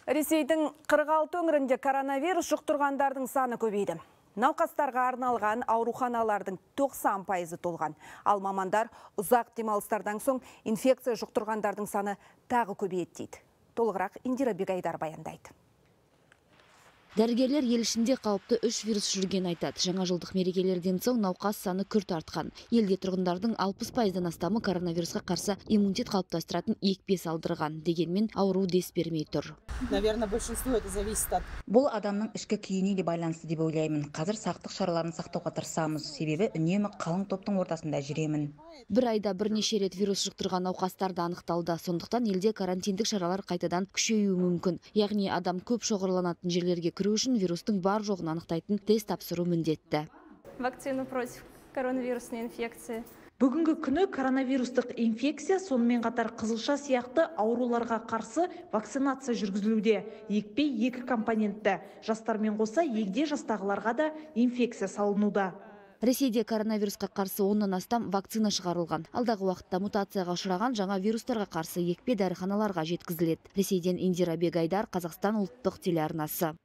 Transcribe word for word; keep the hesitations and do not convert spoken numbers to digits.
Ресейдің қырық алты өңірінде коронавирус жұқтырғандардың саны көбейді. Науқастарға арналған ауруханалардың тоқсан пайызы толған. Ал мамандар ұзақ демалыстардан соң инфекция жұқтырғандардың саны тағы көбейеді дейді. Толығырақ Индира Бегайдар баяндайды. Дәрігерлер ел ішінде қауіпті үш вирус жүрген айтады. Жаңа жылдық мерекелерден соң науқас саны күрт артқан. Елде тұрғындардың алпыс пайыздан астамы коронавирусқа қарсы иммунитет қалыптастыратын екпе салдырған. Дегенмен ауру дес бермей тұр. Наверное, большинство это зависит от... Бұл адамның ішкі күйіне де байланысты деп ойлаймын. Қазір сақтық шараларын сақтауға тырысамыз. Себебі үнемі қалың топтың ортасында жүремін. Бір айда бірнеше рет вирус жұқтырған науқастар да анықталды. Сондықтан елде карантиндік шаралар қайтадан күшеюі мүмкін. Яғни адам көп шоғырланатын жерлерге кіру үшін вирустың бар жоғын анықтайтын тест тапсыру міндетті. Вакцину против коронавирусной инфекции. Бүгінгі күні коронавирустық инфекция сонымен қатар қызылша сияқты ауруларға қарсы вакцинация жүргізілуде. Екпе екі компонентті. Жастармен қоса егде жастағыларға да инфекция салынуда. Ресейде коронавирусқа қарсы оннан астам вакцина шығарылған. Алдағы уақытта мутацияға ұшыраған жаңа вирустарға қарсы екпе дәріханаларға жеткізіледі. Ресейден Индира Бегайдар, Қазақстан ұлттық телеарнасы.